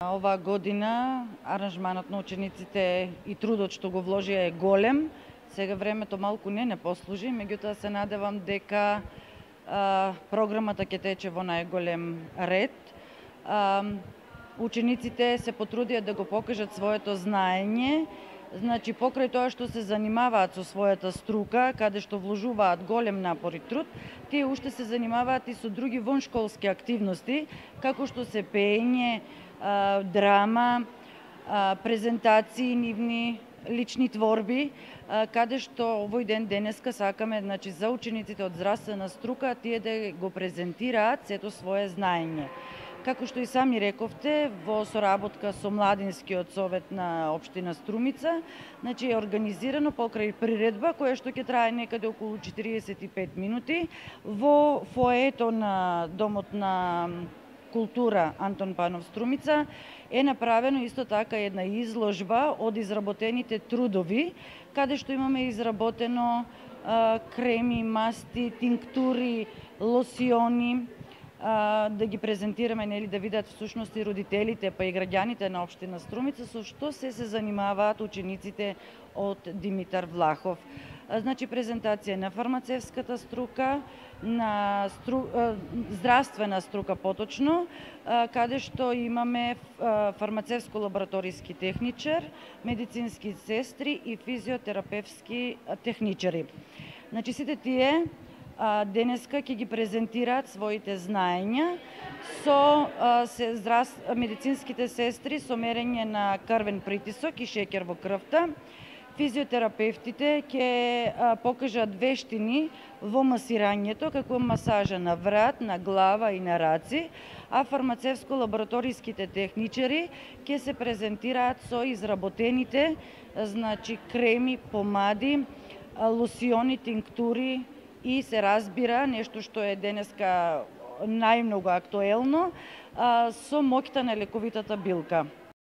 Оваа година аранжманот на учениците и трудот што го вложија е голем. Сега времето малку не послужи, меѓутоа се надевам дека програмата ќе тече во најголем ред. Учениците се потрудија да го покажат своето знаење, значи покрај тоа што се занимаваат со својата струка, каде што вложуваат голем напор и труд, тие уште се занимаваат и со други воншколски активности, како што се пеење, драма, презентации нивни, лични творби, каде што овој ден денеска сакаме, значи за учениците од здравствена струка, тие да го презентираат сето свое знаење. Како што и сами рековте, во соработка со Младинскиот совет на општина Струмица, значи е организирано покрај приредба која што ќе трае некаде околу 45 минути во фоето на Домот на култура Антон Панов Струмица е направено исто така една изложба од изработените трудови, каде што имаме изработено креми, масти, тинктури, лосиони, да ги презентираме, нели, да видат всушност и родителите, па и граѓаните на општина Струмица со што се занимаваат учениците од Димитар Влахов. Значи презентација на фармацевската струка, на здравствена струка поточно, каде што имаме фармацевско-лабораториски техничар, медицински сестри и физиотерапевски техничари. Значи сите тие денеска ќе ги презентираат своите знаења со медицинските сестри со мерење на крвен притисок и шеќер во крвта. Физиотерапевтите ќе покажат вештини во масирањето, како масажа на врат, на глава и на раци, а фармацевско-лабораториските техничари ќе се презентираат со изработените, значи креми, помади, лосиони, тинктури и се разбира нешто што е денеска најмногу актуелно, со моќта на лековитата билка.